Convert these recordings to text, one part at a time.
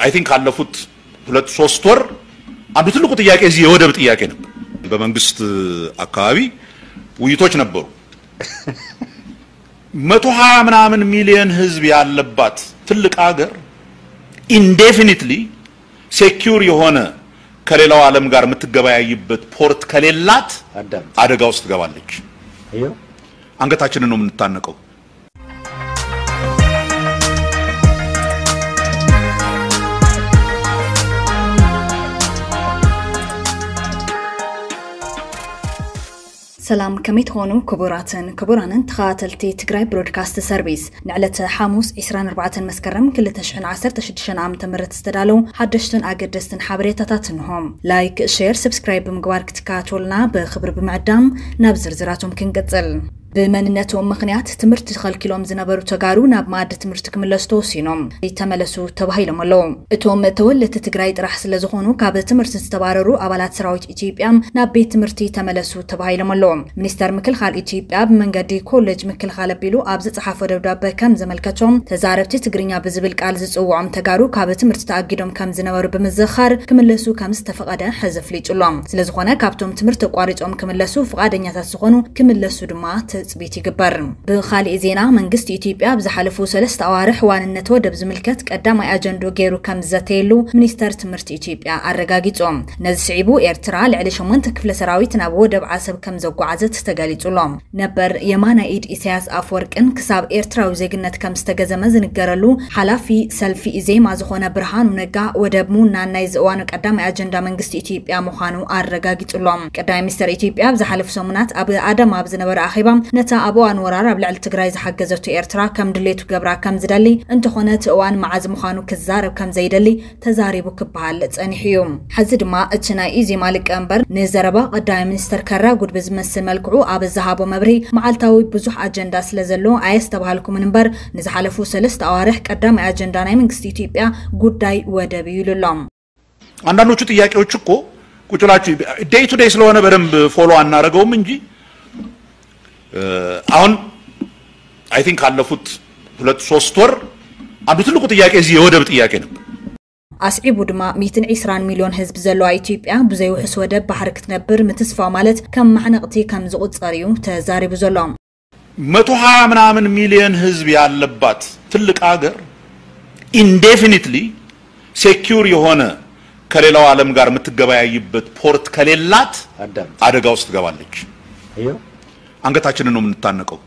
I think ካለፉት ሁለት ሶስት ወር አንዱ ትልቁ ጥያቄ እዚህ የወደብ ጥያቄ ነበር። በመንግስት አካባቢ ውይይቶች ነበሩ። መቶ ሀያ ምናምን ሚሊዮን ህዝብ ያለባት ትልቅ ሀገር indefinitely secure የሆነ ከሌላው ዓለም ጋር የምትገበያይበት ፖርት ከሌላት አዳም። አደጋ ውስጥ ትገባለች። ይኸው። አንገታችንን ነው የምንታነቀው። ሰላም፣ ከመይ ትኾኑ ክቡራትን ክቡራንን ተኸታተልቲ ትግራይ ብሮድካስት ሰርቪስ? ንዕለተ ሓሙስ ዕስራን ኣርባዕተን መስከረም ክልተ ሽሕን ዓሰርተ ሽዱሽተን ዓመተ ምህረት ዝተዳለዉ ሓደሽትን ኣገደስትን ሓበሬታታት እንሆም። ላይክ፣ ሼር፣ ሰብስክራይብ ብምግባር ክትከታተሉና ብኽብሪ ብምዕዳም ናብ ዝርዝራቶም ክንቅጽል። ብመንነቶም ምኽንያት ትምህርቲ ተኸልኪሎም ዝነበሩ ተጋሩ ናብ መኣዲ ትምህርቲ ክምለሱ ተወሲኖም። ተመለሱ ተባሂሎም ኣለዉ። እቶም ተወለድቲ ትግራይ ጥራሕ ስለ ዝኾኑ ካብ ትምህርቲ ዝተባረሩ ኣባላት ሰራዊት ኢትዮጵያ ናብ ቤት ትምህርቲ ተመለሱ ተባሂሎም ኣለዉ። ሚኒስተር ምክልኻል ኢትዮጵያ ብመንገዲ ኮሌጅ ምክልኻል ኣቢሉ ኣብ ዝጸሓፎ ደብዳበ ከም ዘመልከቶም ተዛረብቲ ትግርኛ ብዝብል ቃል ዝጽውዖም ተጋሩ ካብ ትምህርቲ ተኣጊዶም ከም ዝነበሩ ብምዝኻር ክምለሱ ከም ዝተፈቐደ ሕዚ ኣፍሊጡ ኣሎ። ስለዝኾነ ካብቶም ትምህርቲ ኣቋሪጾም ክምለሱ ፍቓደኛታት ዝኾኑ ክምለሱ ድማ ትጽቢት ይግበር። ብኻሊእ ዜና መንግስቲ ኢትዮጵያ ኣብ ዝሓለፉ ሰለስተ ኣዋርሕ ዋንነት ወደብ ዝምልከት ቀዳማይ ኣጀንድኡ ገይሩ ከም ዝዘተየሉ ሚኒስተር ትምህርቲ ኢትዮጵያ ኣረጋጊጹ። ነዚ ስዒቡ ኤርትራ ልዕሊ ሸሞንተ ክፍለ ሰራዊት ናብ ወደብ ዓሰብ ከም ዘጓዓዘት ተገሊጹ ኣሎ። ነበር የማናይ ኢድ ኢሳያስ ኣፈወርቅን ክሳብ ኤርትራዊ ዜግነት ከም ዝተገዘመ ዝንገረሉ ሓላፊ ሰልፊ ኢዜማ ዝኾነ ብርሃኑ ነጋ ወደብ ምውናን ናይዚ እዋኑ ቀዳማይ ኣጀንዳ መንግስቲ ኢትዮጵያ ምዃኑ ኣረጋጊጹ ኣሎ። ቀዳማይ ሚኒስተር ኢትዮጵያ ኣብ ዝሓለፉ ሰሙናት ኣብ ኣዳማ ኣብ ዝነበረ ኣኼባ ነታ ኣብ እዋን ወራር ኣብ ልዕሊ ትግራይ ዝሓገዘቶ ኤርትራ ከም ድሌቱ ገብራ ከም ዝደሊ እንተኾነ እቲ እዋን መዓዝ ምዃኑ ክዛረብ ከም ዘይደሊ ተዛሪቡ ክበሃል ጸኒሑ እዩ። ሕዚ ድማ እቲ ናይ ኢዜማ ሊቀመንበር ንዘረባ ቀዳማይ ሚኒስተር ከራጉድ ብዝመስል መልክዑ ኣብ ዝሃቦ መብርሂ መዓልታዊ ብዙሕ ኣጀንዳ ስለ ዘሎ ኣየስተብሃልኩምን እምበር ንዝሓለፉ ሰለስተ ኣዋርሕ ቀዳማይ ኣጀንዳ ናይ መንግስቲ ኢትዮጵያ ጉዳይ ወደብ እዩ ኢሉ ኣሎ። አንዳንዶቹ ጥያቄዎች እኮ ቁጭ ብላችሁ day to day ስለሆነ በደንብ ፎሎ አናረገውም እንጂ እ፣ አሁን I think ካለፉት ሁለት ሶስት ወር አንዱ ትልቁ ጥያቄ እዚህ የወደብ ጥያቄ ነበር። ኣስዒቡ ድማ ሚእትን ዕስራን ሚልዮን ህዝቢ ዘለዋ ኢትዮጵያ ብዘይ ውሑስ ወደብ ባሕሪ ክትነብር ምትስፋው ማለት ከም ማሕነቕቲ ከም ዝቑጸር እዩ ተዛሪቡ ዘሎ። መቶ ሀያ ምናምን ሚሊዮን ህዝብ ያለባት ትልቅ ሀገር indefinitely secure የሆነ ከሌላው ዓለም ጋር የምትገበያይበት ፖርት ከሌላት አዳም። አደጋ ውስጥ ትገባለች። ይኸው። አንገታችንን ነው የምንታነቀው።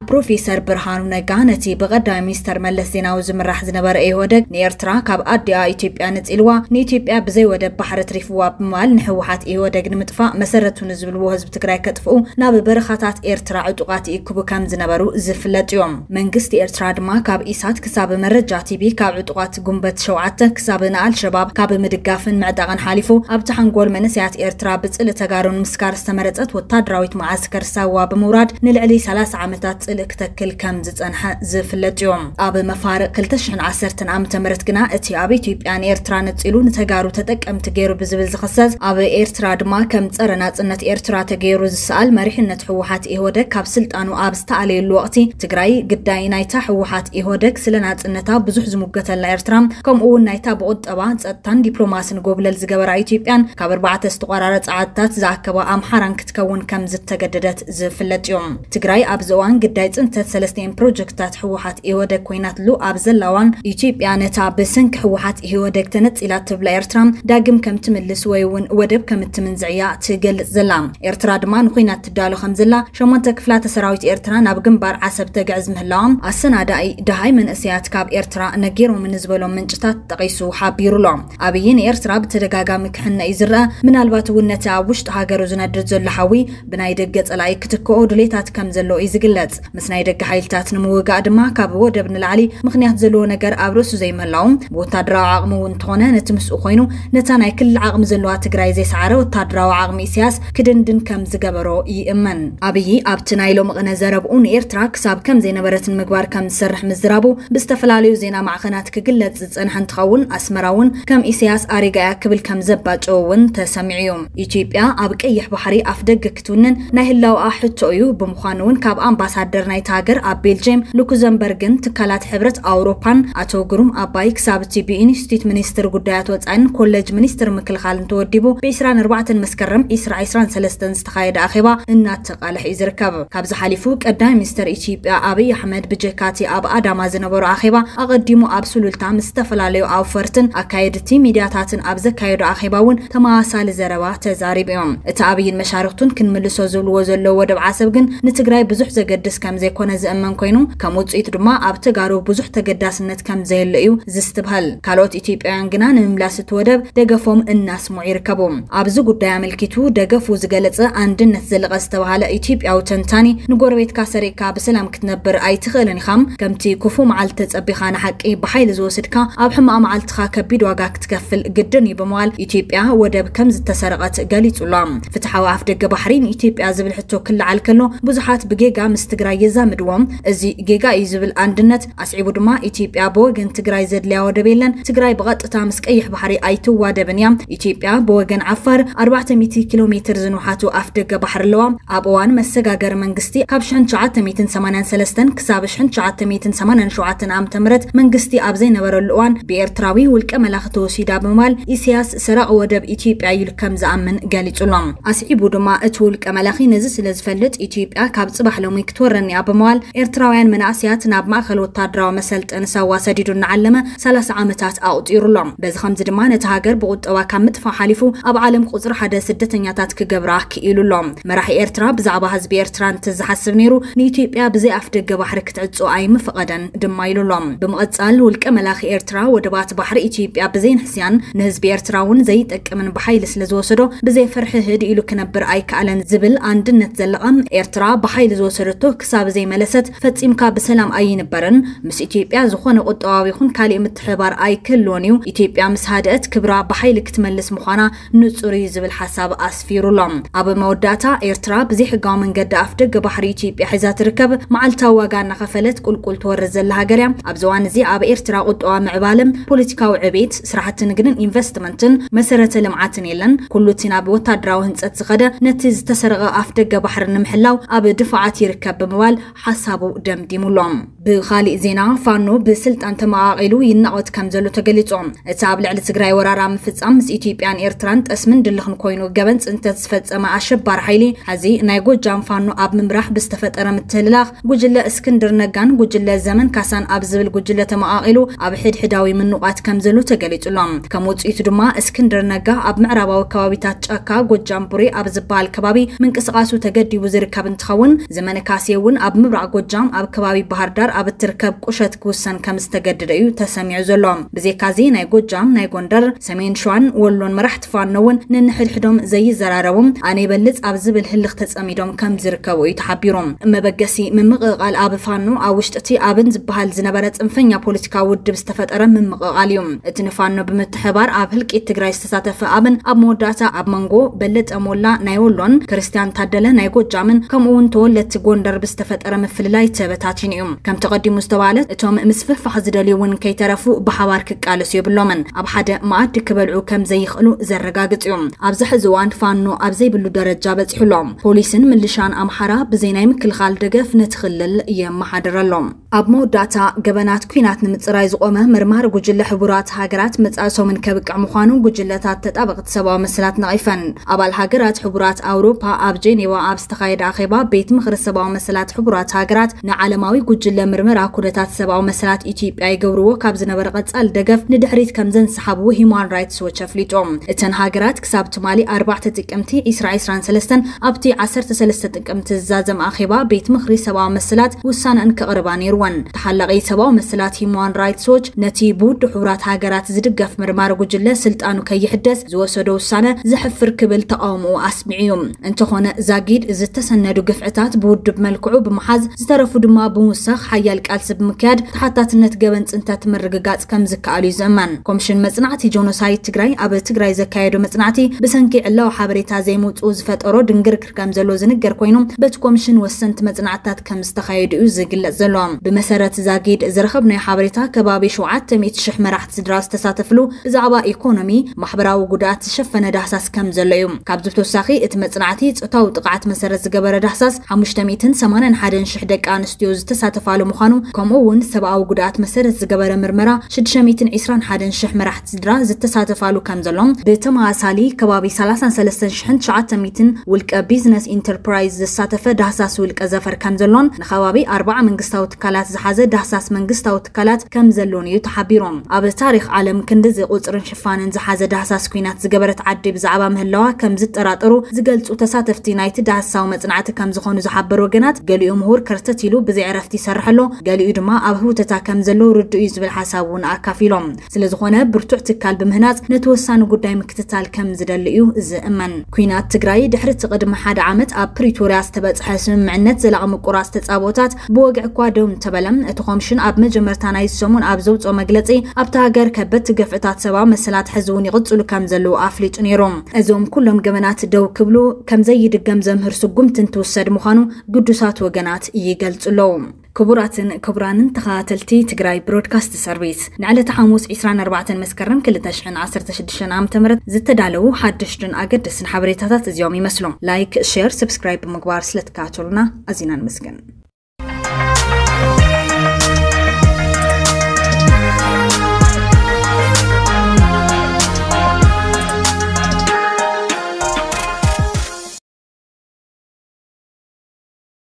ፕሮፌሰር ብርሃኑ ነጋ ነቲ ብቐዳማይ ሚኒስተር መለስ ዜናዊ ዝምራሕ ዝነበረ ኢህወደግ ንኤርትራ ካብ ኣዲኣ ኢትዮጵያ ነጺልዋ፣ ንኢትዮጵያ ብዘይ ወደብ ባሕሪ ኣትሪፍዋ ብምባል ንህወሓት ኢህወደግ ንምጥፋእ መሰረቱ ንዝብልዎ ህዝቢ ትግራይ ከጥፍኡ ናብ በረኻታት ኤርትራ ዕጡቓት ይእክቡ ከም ዝነበሩ ዝፍለጥ እዮም። መንግስቲ ኤርትራ ድማ ካብ ኢሳት ክሳብ መረጃ ቲቪ፣ ካብ ዕጡቓት ጉንበት ሸውዓተ ክሳብ ንኣልሸባብ ካብ ምድጋፍን ምዕጣቕን ሓሊፉ ኣብቲ ሓንጎል መንእሰያት ኤርትራ ብጽልኢ ተጋሩ ንምስካር ዝተመረጸት ወታደራዊት መዓስከር ሳዋ ብምውራድ ንልዕሊ ሰላሳ ዓመታት ጽልኢ ክተክል ከም ዝጸንሐ ዝፍለጥ እዩ። ኣብ መፋርቕ ክልተ ሽሕን ዓሰርተን ዓመተ ምህረት ግና እቲ ኣብ ኢትዮጵያን ኤርትራ ነጺሉ ንተጋሩ ተጠቀምቲ ገይሩ ብዝብል ዝኽሰስ፣ ኣብ ኤርትራ ድማ ከም ጸረ ናጽነት ኤርትራ ተገይሩ ዝሰኣል መሪሕነት ህወሓት ኢህወደግ ካብ ስልጣኑ ኣብ ዝተኣለየሉ ወቕቲ ትግራይ ግዳይ ናይታ ህወሓት ኢህወደግ ስለ ናጽነታ ብዙሕ ዝሙገተላ ኤርትራ ከምኡ እውን ናይታ ብቁጠባ ጸጥታን ዲፕሎማስን ጎብለል ዝገበራ ኢትዮጵያን ካብ ኣርባዕተ ዝተቆራረጸ ዓድታት ዝኣከባ ኣምሓራን ክትከውን ከም ዝተገደደት ዝፍለጥ እዩ። ትግራይ ኣብዚ እዋን ግዳይ ጽንተት ሰለስተን ፕሮጀክትታት ህወሓት ኢህወደግ ኮይናትሉ ኣብ ዘላ እዋን ኢትዮጵያ ነታ ብሰንኪ ህወሓት ኢህወደግ ተነጺላ ትብላ ኤርትራ ዳግም ከም ትምልስ ወይ እውን ወደብ ከም እትምንዝዕ እያ ትገልጽ ዘላ። ኤርትራ ድማ ንኹናት ትዳሎ ከም ዘላ ሸሞንተ ክፍላተ ሰራዊት ኤርትራ ናብ ግንባር ዓሰብ ተግዕዝ ምህላዋ ኣሰናዳኢ ደሃይ መንእሰያት ካብ ኤርትራ ነጊሮምኒ ዝበሎም ምንጭታት ጠቒሱ ሓቢሩ ኣሎ። ኣብይ ንኤርትራ ብተደጋጋሚ ክሕነ እዩ ዝረኣ። ምናልባት እውን ነቲ ኣብ ውሽጢ ሃገሩ ዝነድድ ዘሎ ሓዊ ብናይ ደገ ጸላኢ ክትክኦ ድሌታት ከም ዘሎ እዩ ዝግለጽ። ምስ ናይ ደገ ሓይልታት ንምውጋእ ድማ ካብ ወደብ ንላዕሊ ምኽንያት ዘለዎ ነገር ኣብ ርእሱ ዘይምህላው፣ ብወታደራዊ ዓቕሚ እውን እንተኾነ ነቲ ምስኡ ኮይኑ ነታ ናይ ክልል ዓቕሚ ዘለዋ ትግራይ ዘይሰዓረ ወታደራዊ ዓቕሚ ኢሳያስ ክድንድን ከም ዝገበሮ ይእመን። ኣብይ ኣብቲ ናይ ሎሚ ቅነ ዘረብኡ ንኤርትራ ክሳብ ከም ዘይነበረትን ምግባር ከም ዝሰርሕ ምዝራቡ ብዝተፈላለዩ ዜና ማዕኸናት ክግለጽ ዝጸንሐ እንትኸውን፣ ኣስመራ እውን ከም ኢሳያስ ኣሪጋ እያ ክብል ከም ዘባጨዎ እውን ተሰሚዑ እዩ። ኢትዮጵያ ኣብ ቀይሕ ባሕሪ ኣፍ ደገ ክትውንን ናይ ህላውኣ ሕቶ እዩ። ብምዃኑ እውን ካብ ኣምባሳደር ናይቲ ሃገር ኣብ ቤልጅየም፣ ሉክዘምበርግን ትካላት ሕብረት ኣውሮፓን ኣቶ ግሩም ኣባይ ክሳብ እቲ ብኢንስቲትዩት ሚኒስትር ጉዳያት ወጻኢን ኮሌጅ ሚኒስትር ምክልኻልን ተወዲቡ ብ24 መስከረም 2023 ዝተኻየደ ኣኼባ እናተቓልሐ እዩ ዝርከብ። ካብዚ ሓሊፉ ቀዳማይ ሚኒስትር ኢትዮጵያ ኣብይ ኣሕመድ ብጀካቲ ኣብ ኣዳማ ዝነበሮ ኣኼባ ኣቐዲሙ ኣብ ሱሉልታ ምስ ዝተፈላለዩ ኣውፈርትን ኣካየድቲ ሚድያታትን ኣብ ዘካየዶ ኣኼባ እውን ተመሳሳሊ ዘረባ ተዛሪቡ እዮም። እቲ ኣብይን መሻርክቱን ክንምልሶ ዝብልዎ ዘለዉ ወደብ ዓሰብ ግን ንትግራይ ብዙሕ ዘገድስ ከም ዘይኮነ ዝእመን ኮይኑ ከም ውፅኢት ድማ ኣብ ተጋሩ ብዙሕ ተገዳስነት ከም ዘየለ እዩ ዝስትብሃል። ካልኦት ኢትዮጵያውያን ግና ንምምላስ እቲ ወደብ ደገፎም እናስምዑ ይርከቡ። ኣብዚ ጉዳይ ኣመልኪቱ ደገፉ ዝገለጸ ኣንድነት ዘለቐ ዝተባሃለ ኢትዮጵያዊ ተንታኒ ንጎረቤትካ ሰሪቕካ ብሰላም ክትነብር ኣይትኽእልን ኢኻ። ከምቲ ክፉ መዓልቲ ተጸቢኻ ንሓቂ ብሓይሊ ዝወስድካ ኣብ ሕማቕ መዓልትኻ ከቢድ ዋጋ ክትከፍል ግድን እዩ ብምባል ኢትዮጵያ ወደብ ከም ዝተሰረቐት ገሊጹ ኣሎ። ፍትሓዊ ኣፍደገ ባሕሪ ንኢትዮጵያ ዝብል ሕቶ ክለዓል ከሎ ብዙሓት ብጌጋ ምስ ትግራይ የዛምድዎም። እዚ ጌጋ እዩ ዝብል ኣንድነት ኣስዒቡ ድማ ኢትዮጵያ ብወገን ትግራይ ዘድልያ ወደብ የለን። ትግራይ ብቐጥታ ምስ ቀይሕ ባሕሪ ኣይትዋደብን እያ። ኢትዮጵያ ብወገን ዓፋር 400 ኪሎ ሜትር ዝንውሓቱ ኣፍደገ ባሕሪ ኣለዋ። ኣብ እዋን መሰጋገሪ መንግስቲ ካብ 1983 ክሳብ 1987 ዓ.ም መንግስቲ ኣብ ዘይነበረሉ እዋን ብኤርትራዊ ውልቀ መላኺ ተወሲዳ ብምባል ኢሳያስ ሰራቒ ወደብ ኢትዮጵያ ኢሉ ከም ዝኣምን ገሊጹ ኣሎ። ኣስዒቡ ድማ እቲ ውልቀ መላኺ ነዚ ስለ ዝፈልጥ ኢትዮጵያ ካብ ጽባሕ ሎሚ ክትወረኒ እያ ብምባል ኤርትራውያን መናእሰያት ናብ ማእከል ወታደራዊ መሰልጠኒ ሳዋ ሰዲዱ እናዓለመ 30 ዓመታት ኣቑጺሩ ኣሎ። በዚ ከምዚ ድማ ነቲ ሃገር ብቁጠባ ካብ ምጥፋእ ሓሊፉ ኣብ ዓለም ቁጽሪ ሓደ ስደተኛታት ክገብራ ክኢሉ ኣሎ። መራሒ ኤርትራ ብዛዕባ ህዝቢ ኤርትራ እንተዝሓስብ ነይሩ ንኢትዮጵያ ብዘይ ኣፍደገ ባሕሪ ክትዕጾ ኣይምፈቐደን ድማ ኢሉ ኣሎ። ብምቕጻል ውልቀ መላኺ ኤርትራ ወደባት ባሕሪ ኢትዮጵያ ብዘይ ንሕስያን ንህዝቢ ኤርትራ እውን ዘይጠቅምን ብሓይሊ ስለ ዝወሰዶ ብዘይ ፍርሒ ህድ ኢሉ ክነብር ኣይከኣለን ዝብል ኣንድነት ዘለቐ ኤርትራ ብሓይሊ ዝወሰደቶ ክሳብ ዘይመለሰት ፈጺምካ ብሰላም ኣይንበርን። ምስ ኢትዮጵያ ዝኾነ ቁጠባዊ ይኹን ካሊእ ምትሕባር ኣይክህልዎን እዩ። ኢትዮጵያ ምስ ሃደአት ክብራ ብሓይሊ ክትመልስ ምዃና ንጹር እዩ ዝብል ሓሳብ ኣስፊሩ ኣሎ። ኣብ መወዳእታ ኤርትራ ብዘይሕጋዊ መንገዲ ኣፍደገ ባሕሪ ኢትዮጵያ ሒዛ ትርከብ፣ መዓልታዊ ዋጋ እናኸፈለት ቁልቁል ትወርድ ዘላ ሃገር እያ። ኣብዚ እዋን እዚ ኣብ ኤርትራ ቁጠባ ምዕባለም ፖለቲካዊ ዕቤት፣ ስራሕቲ ንግድን ኢንቨስትመንትን መሰረተ ልምዓትን የለን። ኩሉ እቲ ናብ ወታደራዊ ህንጸት ዝኸደ ነቲ ዝተሰረቐ ኣፍደገ ባሕሪ ንምሕላው ኣብ ድፋዓት ይርከብ ብምባል ሓሳቡ ደምዲሙሎም። ብኻሊእ ዜና ፋኖ ብስልጣን ተመቓቒሉ ይናቖት ከም ዘሎ ተገሊጹ። እቲ ኣብ ልዕሊ ትግራይ ወራራ ምፍጻም ምስ ኢትዮጵያን ኤርትራን ጠስምን ድልኽን ኮይኑ ገበን ጽንተት ዝፈጸመ ኣሸባሪ ሓይሊ ሕዚ ናይ ጎጃም ፋኖ ኣብ ምምራሕ ብዝተፈጠረ ምትህልላኽ ጉጅለ እስክንድር ነጋን ጉጅለ ዘመን ካሳን ኣብ ዝብል ጉጅለ ተመቓቒሉ ኣብ ሕድሕዳዊ ምንቋት ከም ዘሎ ተገሊጹ ኣሎ። ከም ውጽኢቱ ድማ እስክንድር ነጋ ኣብ ምዕራባዊ ከባቢታት ጫካ ጎጃም ቡሬ ኣብ ዝበሃል ከባቢ ምንቅስቓሱ ተገዲቡ ዝርከብ እንትኸውን ዘመነ ካሴ እውን ኣብ ምብራቕ ጎጃም ኣብ ከባቢ ባህር ዳር ኣብ እትርከብ ቁሸት ክውሰን ከም ዝተገደደ እዩ ተሰሚዑ ዘሎ። ብዘይካዚ ናይ ጎጃም ናይ ጎንደር ሰሜን ሸዋን ወሎን መራሕቲ ፋኖ እውን ነንሕድሕዶም ዘይዘራረቡ ኣነ ይበልጽ ኣብ ዝብል ህልኽ ተጸሚዶም ከም ዝርከቡ እዩ ተሓቢሩ። መበገሲ ምምቕቓል ኣብ ፋኖ ኣብ ውሽጢ እቲ ኣብን ዝበሃል ዝነበረ ጽንፈኛ ፖለቲካዊ ውድብ ዝተፈጠረ ምምቕቓል እዩ። እቲ ንፋኖ ብምትሕባር ኣብ ህልቂት ትግራይ ዝተሳተፈ ኣብን ኣብ መወዳእታ ኣብ መንጎ በለጠ ሞላ ናይ ወሎን ክርስቲያን ታደለ ናይ ጎጃምን ከምኡ እውን ተወለድቲ ጎንደር ብዝተፈጠረ ምፍልላይ ተበታቲኑ እዩ። ከምቲ ቀዲሙ ዝተባለ እቶም ምስፍሕፋሕ ዝደልዩ እውን ከይተረፉ ብሓባር ክቃለሱ የብሎምን። ኣብ ሓደ መኣዲ ክበልዑ ከም ዘይኽእሉ ዘረጋግጽ እዩ። ኣብዚ ሕዚ እዋን ፋኖ ኣብ ዘይብሉ ደረጃ በጺሑ ኣሎ። ፖሊስን ምልሻን ኣምሓራ ብዘይ ናይ ምክልኻል ደገፍ ነቲ ክልል የመሓድር ኣሎ። ኣብ መወዳእታ ገበናት ኲናት ንምጽራይ ዝቖመ መርማሪ ጉጅለ ሕቡራት ሃገራት መጻኢ ሰሙን ከብቅዕ ምዃኑ ጉጅለታት ተጣበቕቲ ሰብኣዊ መሰላት ነቒፈን። ኣባል ሃገራት ሕቡራት ኣውሮፓ ኣብ ጄኔቫ ኣብ ዝተኻየደ ኣኼባ ቤት ምኽሪ ሰብኣዊ መሰላት ሕቡራት ሃገራት ንዓለማዊ ጉጅለ ምርመራ ኩነታት ሰብኣዊ መሰላት ኢትዮጵያ ይገብርዎ ካብ ዝነበረ ቀጻሊ ደገፍ ንድሕሪት ከም ዘንሰሓብዎ ሂማን ራይትስ ዎች ኣፍሊጡ። እተን ሃገራት ክሳብ ትማሊ ኣርባዕተ ጥቅምቲ 2023 ኣብቲ 13 ጥቅምቲ ዝዛዘም ኣኼባ ቤት ምኽሪ ሰብኣዊ መሰላት ውሳነን ከቕርባ ነይርወን። ተሓላቒ ሰብኣዊ መሰላት ሂማን ራይትስ ዎች ነቲ ብውድብ ሕቡራት ሃገራት ዝድገፍ መርማሪ ጉጅለ ስልጣኑ ከይሕደስ ዝወሰዶ ውሳነ ዘሕፍር ክብል ተቓውሞኡ ኣስሚዑ እዩ። እንተኾነ ዛጊድ ዝተሰነዱ ግፍዕታት ብውድብ መልክዑ ብምሓዝ ዝተረፉ ድማ ብምውሳኽ ሓያል ቃልሲ ብምክያድ ተሓታትነት ገበን ጽንተት ምርግጋጽ ከም ዝከኣል እዩ ዝእመን። ኮሚሽን መጽናዕቲ ጆኖሳይድ ትግራይ ኣብ ትግራይ ዘካየዶ መጽናዕቲ ብሰንኪ ዕላዊ ሓበሬታ ዘይምውጽኡ ዝፈጠሮ ድንግርግር ከም ዘሎ ዝንገር ኮይኑ በቲ ኮሚሽን ወሰንቲ መጽናዕትታት ከም ዝተኻየዱ እዩ ዝግለጽ ዘሎ። ብመሰረት ዛጊድ ዝረኸብናዮ ሓበሬታ ከባቢ 700,000 መራሕቲ ስድራ ዝተሳተፍሉ ብዛዕባ ኢኮኖሚ፣ ማሕበራዊ ጉድኣት ዝሸፈነ ዳህሳስ ከም ዘሎ እዩ። ካብዚ ብተወሳኺ እቲ መጽናዕቲ ጾታዊ ጥቕዓት መሰረት ዝገበረ ዳህሳስ 580 ሓደን ሽሕ ደቂ ኣንስትዮ ዝተሳተፋሉ ምዃኑ፣ ከምኡ እውን ሰብኣዊ ጉድኣት መሰረት ዝገበረ ምርመራ ሽዱሽተ ሚእትን ዕስራን ሓደን ሽሕ መራሕቲ ስድራ ዝተሳተፋሉ ከም ዘሎ፣ ብተመሳሳሊ ከባቢ ሰላሳን ሰለስተን ሽሕን ትሽዓተ ሚእትን ውልቀ ቢዝነስ ኢንተርፕራይዝ ዘሳተፈ ዳህሳስ ውልቀ ዘፈር ከም ዘሎን፣ ንከባቢ ኣርባዓ መንግስታዊ ትካላት ዝሓዘ ዳህሳስ መንግስታዊ ትካላት ከም ዘሎን እዩ ተሓቢሩ። ኣብ ታሪኽ ዓለም ክንድዚ ቁፅርን ሽፋንን ዝሓዘ ዳህሳስ ኲናት ዝገበረት ዓዲ ብዛዕባ ምህላዋ ከም ዝጠራጠሩ ዝገልፁ ተሳተፍቲ ናይቲ ዳህሳዊ መፅናዕቲ ከም ዝኾኑ ዝሓበሩ ወገናት፣ ገሊኡ ምሁር ከርተት ኢሉ ብዘይ ዕረፍቲ ይሰርሕ ኣሎ፣ ገሊኡ ድማ ኣብ ህውተታ ከም ዘሎ ርዱእ እዩ ዝብል ሓሳብ እውን ኣካፊሎም። ስለ ዝኾነ ብርቱዕ ትካል ብምህናፅ ነቲ ወሳኒ ጉዳይ ምክትታል ከም ዝደሊ እዩ ዝእመን። ኲናት ትግራይ ድሕሪ እቲ ቅድሚ ሓደ ዓመት ኣብ ፕሪቶርያ ዝተበፅሐ ስምምዕነት ዘላቒ ምቁራፅ ተፃብኦታት ብወግዒ እኳ ደው እንተበለ፣ እቲ ኮምሽን ኣብ መጀመርታ ናይ ሰሙን ኣብ ዘውፅኦ መግለፂ፣ ኣብታ ሃገር ከበድቲ ግፍዕታት ሰብኣዊ መሰላት ሕዚ እውን ይቕፅሉ ከም ዘለዉ ኣፍሊጡ ነይሩ። እዞም ኩሎም ገበናት ደው ክብሉ ከም ዘይድገም ዘምህር ስጉምቲ እንትውሰድ ምዃኑ ግዱሳት ወገናት ይገልፁ ኣለዉ። ክቡራትን ክቡራንን ተኸታተልቲ ትግራይ ብሮድካስት ሰርቪስ፣ ንዕለተ ሓሙስ ዕስራን ኣርባዕተን መስከረም ክልተ ሽሕን ዓሰርተ ሽዱሽተን ዓመተ ምህረት ዝተዳለዉ ሓደሽትን ኣገደስትን ሓበሬታታት እዚኦም ይመስሉ። ላይክ፣ ሼር፣ ሰብስክራይብ ብምግባር ስለትከታተሉና ኣዚና ንመስገን።